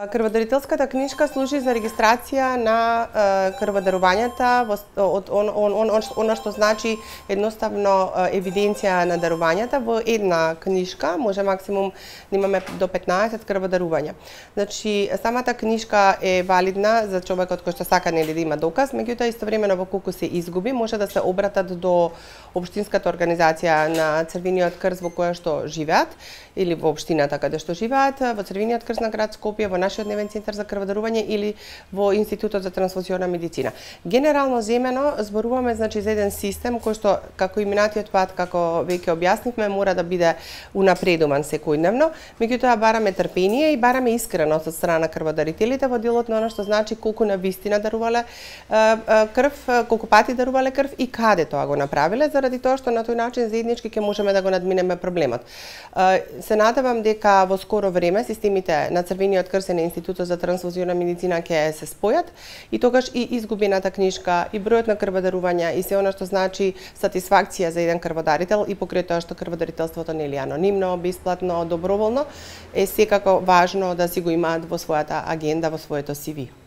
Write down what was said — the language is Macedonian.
Крводарителската книжка служи за регистрација на крводарувањата, она што значи едноставно евиденција на дарувањата во една книжка, може максимум да имаме до 15 крводарувања. Значи, самата книжка е валидна за човекот кој што сака да има доказ, меѓутоа истовремено во колку се изгуби, може да се обратат до општинската организација на Црвениот крст во која што живеат или во општината каде што живеат, во Црвениот крст на град Скопје, во нашиот дневен центар за крводарување или во Институтот за трансфузионна медицина. Генерално земено зборуваме значи за еден систем кој што како и минатиот пат, како веќе објаснивме, мора да биде унапредуван секојдневно, меѓутоа бараме трпение и бараме искреност од страна на крводарителите во делот на она што значи колку навистина дарувале крв, колку пати дарувале крв и каде тоа го направиле, заради тоа што на тој начин заеднички ќе можеме да го надминеме проблемот. Се надевам дека во скоро време системите на Црвениот крст и на Институтот за трансфузионна медицина ќе се спојат и тогаш и изгубената книжка, и бројот на крводарувања и се она што значи сатисфакција за еден крводарител и покрај тоа што крводарителството нели анонимно, бесплатно, доброволно е секако важно да си го имаат во својата агенда, во своето CV.